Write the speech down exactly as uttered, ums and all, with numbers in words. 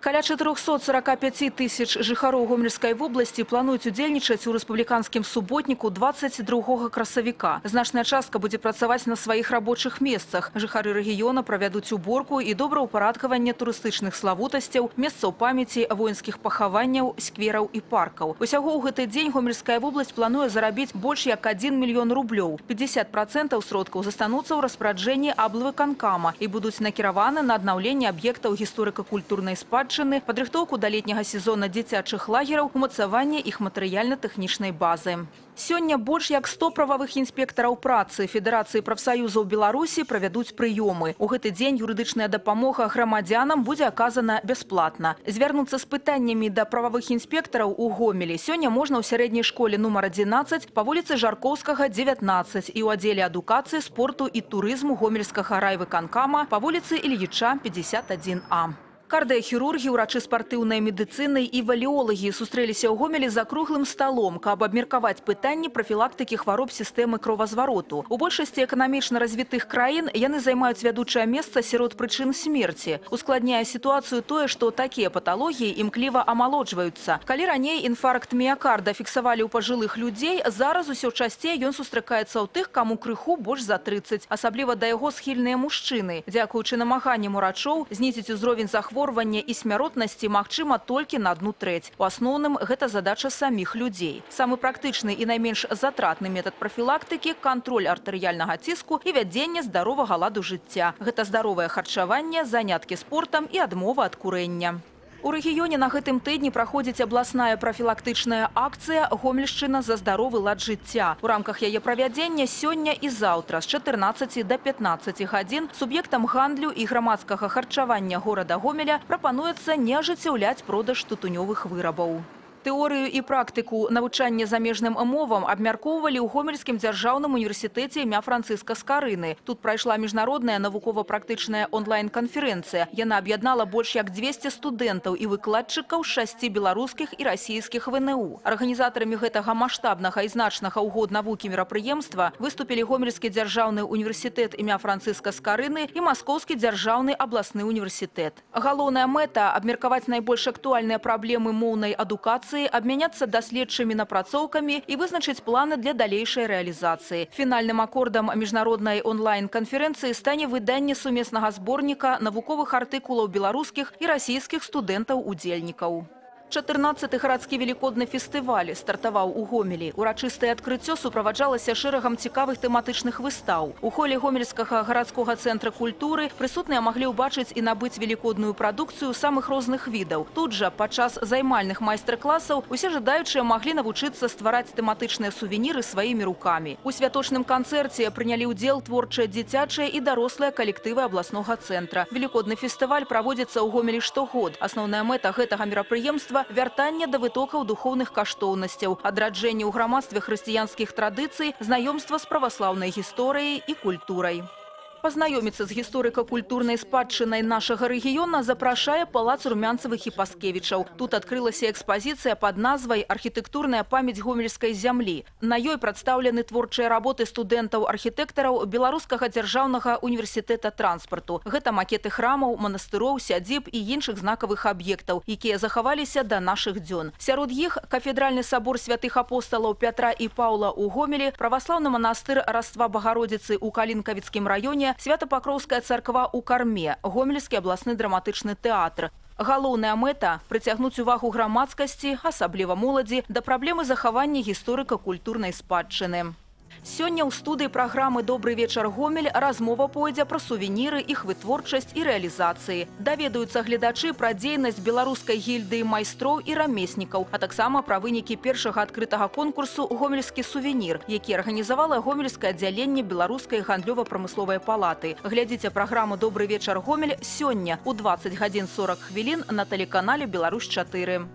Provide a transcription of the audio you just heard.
Каля чатырохсот сорока пяти тысяч жыхароў Гомельскай вобласці плануюць удзельнічаць у рэспубліканскім суботніку двадцать другога красавіка. Значная частка будзе працаваць на сваіх рабочых месцах. Жыхары рэгіёна правядуць уборку і добраўпарадкаванне турыстычных славутасцяў, месцаў памяці, воінскіх пахаванняў, сквераў і паркаў. Усяго ў гэты дзень Гомельская вобласць плануе зарабіць больш як адзін мільён рублёў. пятьдесят процентов сродкаў застануцца ў распараджэнні аблвыканкама і будуць накіраваны на аднаўленне аб'ектаў гісторыка-культурнай спадчыны, падрыхтоўку да летняга сезона дзіцячых лагераў, умацаванне іх матэрыяльна-тэхнічнай базы. Сёння больш як сто прававых інспектараў працы Федэрацыі прафсаюзаў Беларусі правядуць прыёмы. У гэты дзень юрыдычная дапамога грамадзянам будзе аказана бясплатна. Звярнуцца з пытаннямі да прававых інспектараў у Гомелі сёння можна ў сярэдняй школе нумар адзінаццаць па вуліцы Жаркоўскага, дзевятнаццаць і ў аддзеле адукацыі, спорту і турызму Гомельскага райвыканкама па вуліцы Ільіча, пятьдесят один А. Кардыахірургі, урачы спартыўнай медыцыны і валеолагі сустрэліся ў Гомелі за круглым сталом, каб абмеркаваць пытанні прафілактыкі хвароб сістэмы кровазвароту. У большасці эканамічна развітых краін яны займаюць вядучае месца сярод прычын смерці. Ускладняе сітуацыю тое, што такія паталогіі імкліва амалоджваюцца. Калі раней інфаркт міякарда фіксавалі ў пажылых людзей, зараз усё часцей ён сустракаецца ў тых, каму крыху больш за трыццаць. Асабліва да яго схільныя мужчыны. Дзякуючы намаганням урачоў знізіць узровень захворвання і смяротнасці магчыма толькі на адну трэць. У асноўным гэта задача саміх людзей. Самы практычны і найменш затратны метад прафілактыкі – кантроль артэрыяльнага ціску і вядзенне здаровага ладу жыцця. Гэта здаровае харчаванне, заняткі спортам і адмова ад курэння. У рэгіёне на гэтым тыдні праходзіць абласная прафілактычная акцыя «Гомельшчына за здаровы лад жыцця». У рамках яе правядзення сёння і заўтра з чатырнаццаці да пятнаццаці гадзін суб'ектам гандлю і грамадскага харчавання горада Гомеля прапануецца не ажыццяўляць продаж тытунёвых вырабаў. Тэорыю і практыку навучання замежным мовам абмяркоўвалі ў Гомельскім дзяржаўным універсітэце імя Францыска Скарыны. Тут прайшла міжнародная навукова-практычная онлайн-канферэнцыя. Яна аб'яднала больш як дзвесце студэнтаў і выкладчыкаў з шасці беларускіх і расійскіх вэ эн у. Арганізатарамі гэтага маштабнага і значнага ў год навукі мерапрыемства выступілі Гомельскі дзяржаўны універсітэт імя Францыска Скарыны і Маскоўскі дзяржаўны абласны універсітэт. Галоўная мэта – абмеркаваць найбольш актуальныя праблемы моўнай адукацыі, абмяняцца даследчымі напрацоўкамі і вызначыць планы для далейшай рэалізацыі. Фінальным акордам міжнароднай онлайн-канферэнцыі стане выданне сумеснага зборніка навуковых артыкулаў беларускіх і расійскіх студэнтаў-удзельнікаў. чатырнаццаты гарадскі велікодны фестываль стартаваў у Гомелі. Урачыстае адкрыццё суправаджалася шэрагам цікавых тэматычных выстаў. У холе Гомельскага гарадскога цэнтра культуры прысутныя маглі ўбачыць і набыць велікодную прадукцыю самых розных відаў. Тут жа падчас займальных майстар-класаў усе жадаючыя маглі навучыцца ствараць тэматычныя сувеніры сваімі рукамі. У святочным канцэрце прынялі ўдзел творчыя дзіцячыя і дарослыя калектывы абласнога цэнтра. Велікодны фестываль праводзіцца ў Гомелі штогод. Асноўная мэта гэтага мерапрыемства – вяртанне да вытокаў духоўных каштоўнасцяў, адраджэнне ў грамадстве хрысціянскіх традыцый, знаёмства з праваслаўнай гісторыяй і культурай. Пазнаёміцца з гісторыка-культурнай спадчынай нашага рэгіёна запрашае палац Румянцавых і Паскевічаў. Тут адкрылася экспазіцыя пад назвай «Архітэктурная памяць гомельскай зямлі». На ёй прадстаўлены творчыя работы студэнтаў-архітэктараў Беларускага дзяржаўнага універсітэта транспарту. Гэта макеты храмаў, манастыроў, сядзіб і іншых знакавых аб'ектаў, якія захаваліся да нашых дзён. Сярод іх кафедральны сабор святых апосталаў Пятра і Паўла ў Гомелі, праваслаўны манастыр Раства Багародзіцы ў Калінкавіцкім раёне, Свято-Пакроўская царква ў Карме, Гомельскі абласны драматычны тэатр. Галоўная мэта – прыцягнуць увагу грамадскасці, асабліва моладзі, да праблемы захавання гісторыка-культурнай спадчыны. Сёння ў студыі праграмы «Добры вечар, Гомель» размова пойдзе пра сувеніры, іх вытворчасць і рэалізацыі. Даведаюцца гледачы пра дзейнасць беларускай гільдыі майстроў і рамеснікаў, а таксама пра вынікі першага адкрытага конкурсу «Гомельскі сувенір», які арганізавала Гомельскае аддзяленне Беларускай гандлёва-прамысловай палаты. Глядзіце праграму «Добры вечар, Гомель» сёння ў дваццаць гадзін сорок хвілін на тэлеканале «Беларусь чатыры».